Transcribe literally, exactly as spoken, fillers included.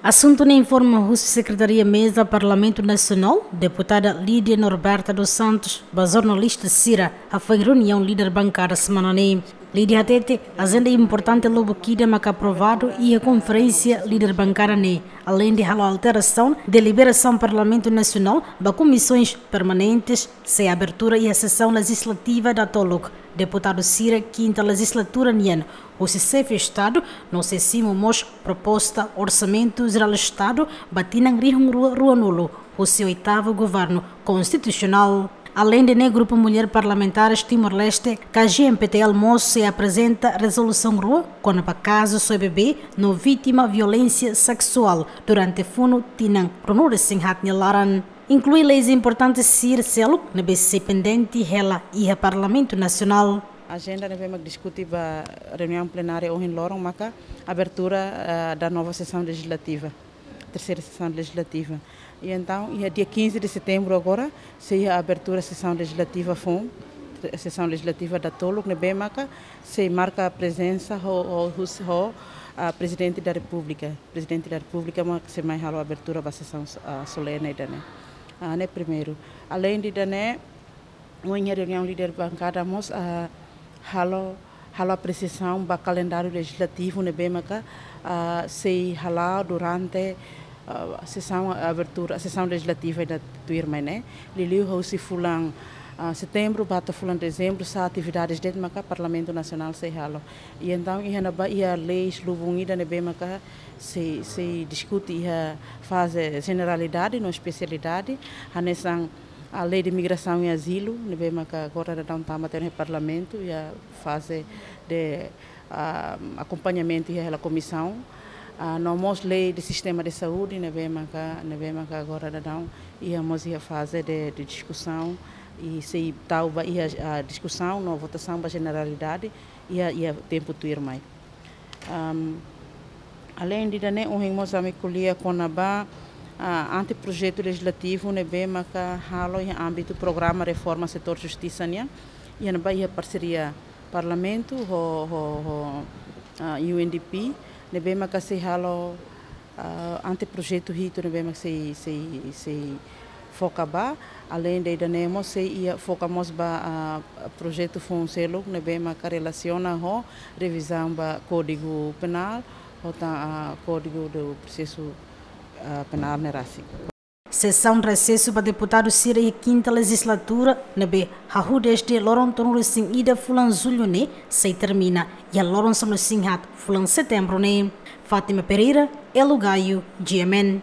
Asuntu ne'e informa husi Sekretaria Meza Parlamentu Nasionál, Deputada Lídia Norberta dos Santos, ba jornalista sira, hafoin reuniaun líder bankada semana ne'e. Lídia hatete, ajenda importante lubuk ida maka aprovadu iha konferénsia líder bankada ne'e, aleinde halo alterasaun deliberasaun Parlamentu Nasionál ba komisaun permanente, sei abertura iha sesaun lejizlativa datoluk. Deputadu sira kinta lejizlatura nian, husi Xefe Estadu, no sei simu mós proposta Orsamentu Jerál Estadu ba tinan rihun rua ruanulu, husi oitavu Governu Konstitusionál. Aleinde ne'e, Grupu Mulher Parlamentares Timor-Leste, K G M P T L, mós sei aprezenta rezolusaun rua kona-ba kazu soe bebé no vítima violénsia seksuál durante funu tinan ruanulu-resin-haat nia laran. Inklui leis importantes sira seluk ne'ebé sei pendente hela iha Parlamentu Nasionál. Ajenda ne'ebé mak diskute ba reuniaun plenária ohin loron maka abertura, eh, da nova sesaun lejizlativa, terseira sesaun lejizlativa. I entaun, iha dia quinze de setembro agora, sei iha abertura sesaun lejizlativa foun, sesaun lejizlativa datoluk ne'ebé maka sei marka prezensa ho, ho, hus-, ho, ah, Prezidente da Repúblika. Prezidente da Repúblika mak sei mai halo abertura ba sesaun, ah, solene ida-ne'e. Ah, ne'e primeiru. Aleinde ida-ne'e, ohin iha reuniaun líder bankada mós, ah, halo, halo apresiasaun ba kalendáriu lejizlativu ne'ebé maka, ah, sei hala'o durante, ah, sesaun abertura, sesaun lejizlativa ida tuirmai ne'e. Liuliu husi fulan, ah, setembru ba to'o fulan dezembru, sá atividades de'it maka Parlamentu Nasionál sei halo. I entaun, iha ne'ebá iha leis lubun ida ne'ebé maka sei, sei diskute iha faze jeneralidade no espesialidade, hanesan a Lei de Migrasaun i Azilu, ne'ebé maka agora daudaun tama tiha ona iha Parlamentu, iha faze de, ah, akompañamentu iha hela komisaun. Ah, no mós lei de sistema de saúde, ne'ebé maka, ne'ebé maka agora daudaun iha mós iha faze de, de diskusaun, i sei tau ba iha, ah, diskusaun no votasaun ba jeneralidade iha, iha tempu tuirmai. Am, aleinde ida-ne'e, ohin mós ami ko'alia kona-ba, ah, anteprojetu lejizlativu ne'ebé maka halo iha ámbitu programa reforma setór justisa nian, iha ne'ebá iha parseria Parlamentu ho, ho, ho, ah, U N D P, ne'ebé maka sei halo, ah, anteprojetu hitu ne'ebé maka sei, sei, sei foka ba, aleinde ida-ne'e mós sei iha foka mós ba, ah, projetu foun seluk ne'ebé maka relasiona ho revizaun ba Kódigu Penál, ho tan, ah, Kódigu do Prosesu, ah, Penál ne'e rasik. Sesaun resesu ba deputadu sira iha kinta lejizlatura, ne'ebé hahú dezde loron tolunulu-resin-ida fulan Jullu ne'e, sei termina iha loron sanulu-resin-haat fulan Setembru ne'e. Fátima Pereira, Elo Gaio, G M N.